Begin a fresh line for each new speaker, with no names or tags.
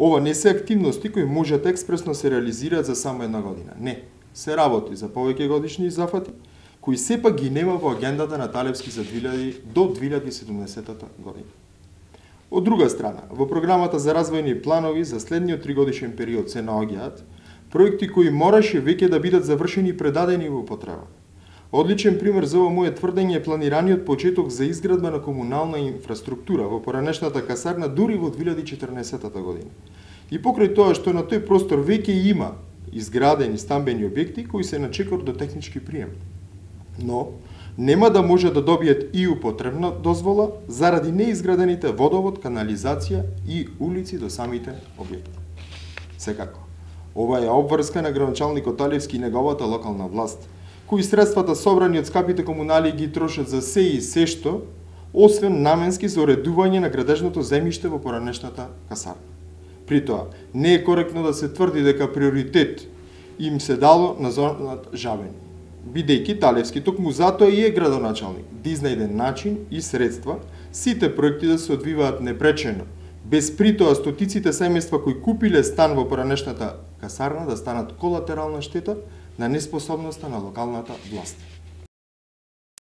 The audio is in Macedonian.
Ова не се активности кои можат експресно се реализираат за само една година. Не, се работи за повеќе годишни зафати, кои сепак ги нема во агендата на Талевски за 2000 до 2070 година. Од друга страна, во програмата за развојни планови за следниот 3-годишен период се наоѓаат проекти кои мораше веќе да бидат завршени и предадени во употреба. Одличен пример за ова моје тврдење е планираниот почеток за изградба на комунална инфраструктура во поранешната касарна дури во 2014 година. И покрај тоа што на тој простор веќе има изградени стамбени објекти кои се на чекор до технички прием. Но нема да може да добијат и употребна дозвола заради неизградените водовод, канализација и улици до самите објекти. Секако, ова е обврска на градоначалникот Талевски и неговата локална власт, кои средствата собрани од скапите комунали ги трошат за се и се што, освен наменски за уредување на градежното земјиште во поранешната касарна. При тоа, не е коректно да се тврди дека приоритет им се дало на зоната Жабени, бидејќи Талевски токму затоа и е градоначалник, да изнајде начин и средства сите проекти да се одвиваат непречено, без при тоа стотиците семејства кои купиле стан во поранешната касарна да станат колатерална штета на неспособноста на локалната власт.